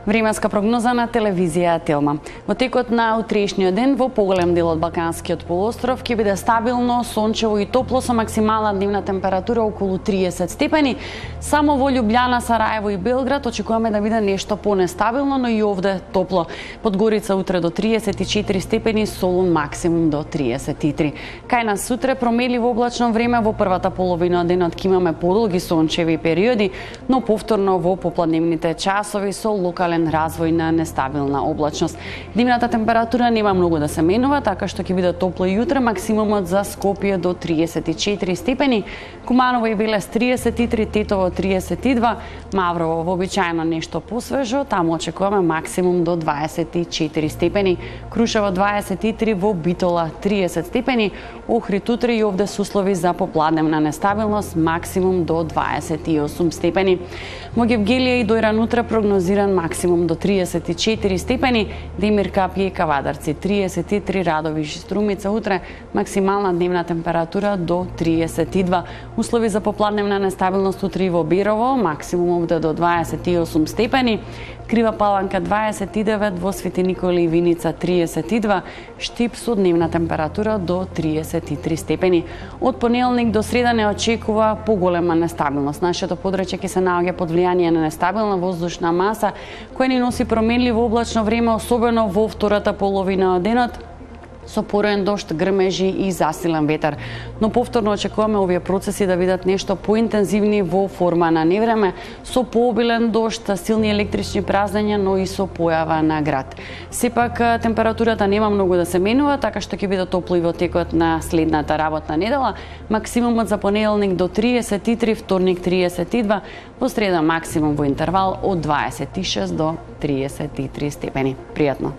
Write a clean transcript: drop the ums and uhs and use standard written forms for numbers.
Временска прогноза на телевизија Телма. Во текот на утрешниот ден во поголем дел од Балканскиот полуостров ќе биде стабилно, сончево и топло со максимална дневна температура околу 30 степени. Само во Љубљана, Сараево и Белград очекуваме да биде нешто понестабилно, но и овде топло. Подгорица утре до 34 степени, Солун максимум до 33. Кај нас сутре промеливо облачно време, во првата половина од денот ќе имаме подолги сончеви периоди, но повторно во попладневните часови со локален развој на нестабилна облачност. Дневната температура нема многу да се менува, така што ќе биде топло и утре, максимумот за Скопје до 34 степени, Куманово и Велес 33, Тетово 32, Маврово вообичаено нешто посвежо, таму очекуваме максимум до 24 степени, Крушево 23, во Битола 30 степени, Охрид утре и овде се услови за попладневна нестабилност, максимум до 28 степени. Во Гевгелија и Дојран утре прогнозиран максимум до 34 степени, Демир Капје и Кавадарци 33, Радовиш и Струмица утре максимална дневна температура до 32. Услови за попладневна нестабилност утре и во Берово, максимум овде до 28 степени, Крива Паланка 29, во Свети Никола и Виница 32, Штип со дневна температура до 33 степени. Од понеделник до среда не очекува поголема нестабилност. Нашето подрачје ќе се наоѓа под влијание на нестабилна воздушна маса, која ни носи променливо облачно време, особено во втората половина од денот, со пороен дожд, грмежи и засилен ветар. Но повторно очекуваме овие процеси да бидат нешто поинтензивни во форма на невреме, со пообилен дожд, силни електрични празнења, но и со појава на град. Сепак температурата нема многу да се менува, така што ќе биде топло и во текот на следната работна недела. Максимумот за понеделник до 33, вторник 32, во среда максимум во интервал од 26 до 33 степени. Пријатно.